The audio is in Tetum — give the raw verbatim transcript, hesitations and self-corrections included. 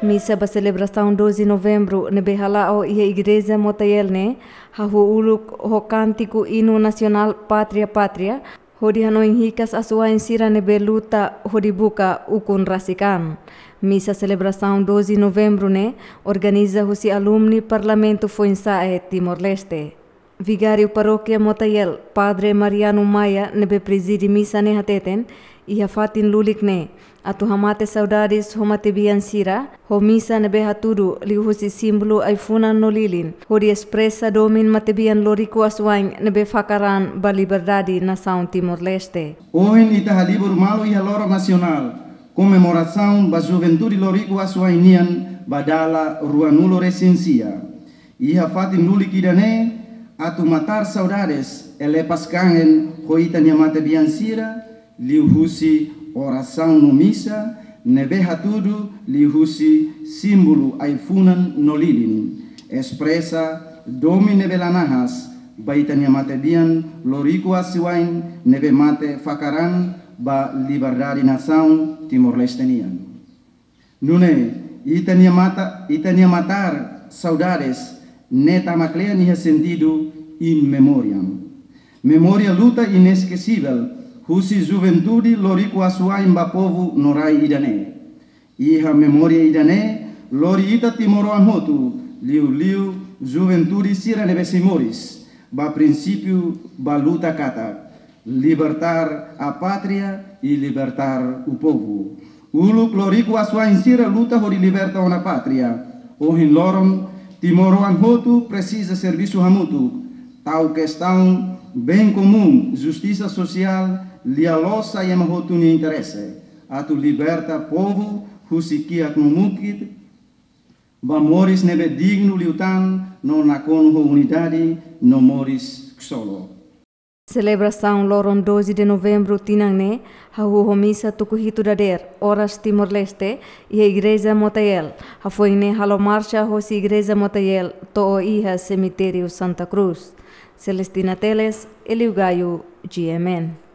Misa ba selebrasaun doze Novembru ne'ebé hala'o iha Igreja Motael ne'e, hahú uluk ho kántiku inu nasionál Pátria, Pátria, hodi hanoin hikas asuwa'in sira ne'ebé luta hodi buka ukun rasik an. Misa selebrasaun doze Novembru ne'e organiza husi alumni Parlamentu Foinsa'e Timor-Leste. Vigáriu Parókia Motael, Padre Mariano Maia, ne'ebé prezide misa ne'e hateten, iha fatin lulik ne'e, atu hamate saudades ho matebian sira, ho misa ne'ebé hatudu liuhusi símbolu ai-funan no lilin, hodi espresa domin matebian loriku asuwa'in ne'ebé fakar an ba liberdade nasaun Timor-Leste. Ohin ita halibur malu iha loron nasionál, komemorasaun ba juventude loriku asuwa'in nian ba dala ruanulu resin sia. Iha fatin lulik ida-ne'e, atu matar saudades, elepas kangen ho ita-nia matebian sira, liuhusi orasaun no misa, ne'ebé hatudu liuhusi símbolu ai-funan no lilin, espresa domin ne'ebé la nahas ba ita-nia matebian loriku asuwa'in ne'ebé mate fakar an ba liberdade nasaun Timor-Leste nian. Nune'e, ita-nia mata, ita-nia matar saudades ne'e tama kle'an iha sentidu in memoriam. Memória luta inesquecível husi juventude loriku asuwa'in ba povu no rai ida-ne'e. Iha memória ida-ne'e, lori ita timoroan hotu, liuliu juventude sira ne'ebé sei moris, ba prinsípiu ba luta katak: Libertar a pátria e libertar o povo. Uluk loriku asuwa'in sira luta hodi liberta ona pátria. Ohin loron, timoroan hotu presiza servisu hamutuk, tau kestaun bem comum, justisa sosiál, lia-loos sai ema hotu nia interese, atu liberta povu husi kiak no mukit, ba moris ne'ebé dignu liután no nakonu ho unidade no moris ksolok. Selebrasaun loron doze de Novembru tinan ne'e, hahú ho misa tuku hitu dadeer, oras Timor-Leste, iha Igreja Motael, hafoin ne'e halo marxa hosi Igreja Motael to'o iha Semitériu Santa Cruz. Celestina Teles, Elio Gaio, G M N.